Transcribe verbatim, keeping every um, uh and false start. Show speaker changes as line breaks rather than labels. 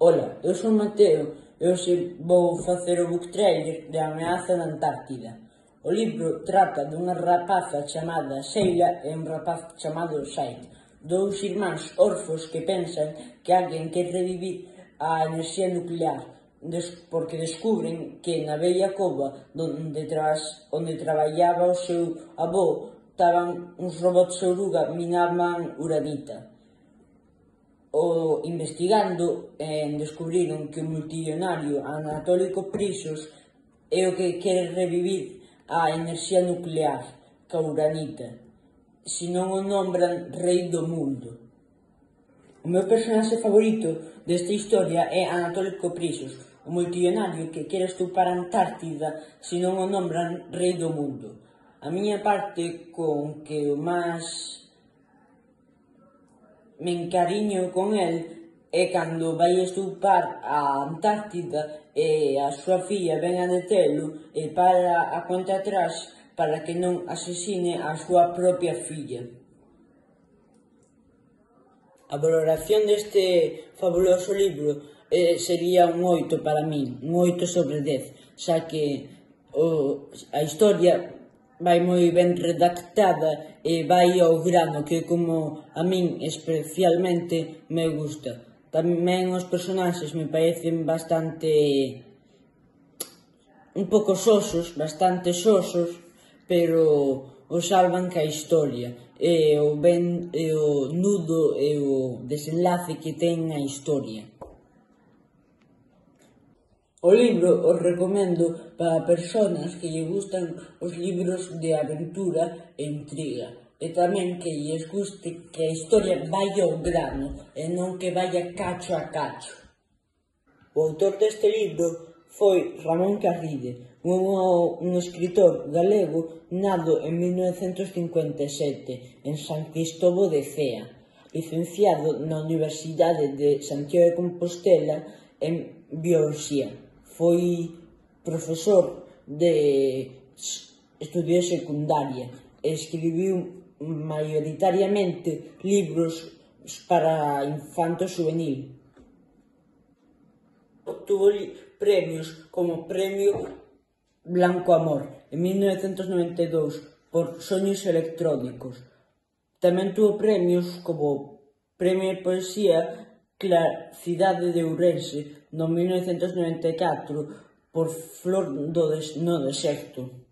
Ola, eu son Mateo e hoxe vou facer o book trailer de A ameaza na Antártida. O libro trata dunha rapaza chamada Sheila e un rapaz chamado Said, dous irmáns orfos que pensan que alguén quere revivir a enerxía nuclear, porque descubren que na vella cova onde, tras, onde traballaba o seu avó estaban uns robots oruga minaban uranita. O investigando, eh, descubriron que o multimillonario Anatoly Koprisos é o que quere revivir a enerxía nuclear, ca uranita, se non o nombran rei do mundo. O meu personaxe favorito desta historia é Anatoly Koprisos, o multimillonario que quere estupar a Antártida se non o nombran rei do mundo. A miña parte con que o máis me encariño con el é cando vai estupar a Antártida e a súa filla ven a detelo e para a conta atrás para que non asesine a súa propia filla. A valoración deste fabuloso libro eh, sería un oito para min, un oito sobre dez, xa que o, a historia vai moi ben redactada e vai ao grano, que como a min especialmente me gusta. Tamén os personaxes me parecen bastante un pouco sosos, bastante sosos, pero o salvan ca historia e o, ben, e o nudo e o desenlace que ten a historia. O libro os recomendo para persoas que lle gustan os libros de aventura e intriga, e tamén que lles guste que a historia vai ao grano e non que vaya cacho a cacho. O autor deste libro foi Ramón Carride, un, un escritor galego nado en mil novecentos cincuenta e sete en San Cristovo de Cea, licenciado na Universidade de Santiago de Compostela en Bioloxía. Foi profesor de estudios de secundaria e escribiu maioritariamente libros para infanto juvenil. Obtuvo premios como Premio Blanco Amor en mil novecentos noventa e dous por Soños electrónicos. Tamén tuvo premios como Premio de Poesía Cidade de Ourense no mil novecentos noventa e catro por Flor no Deserto.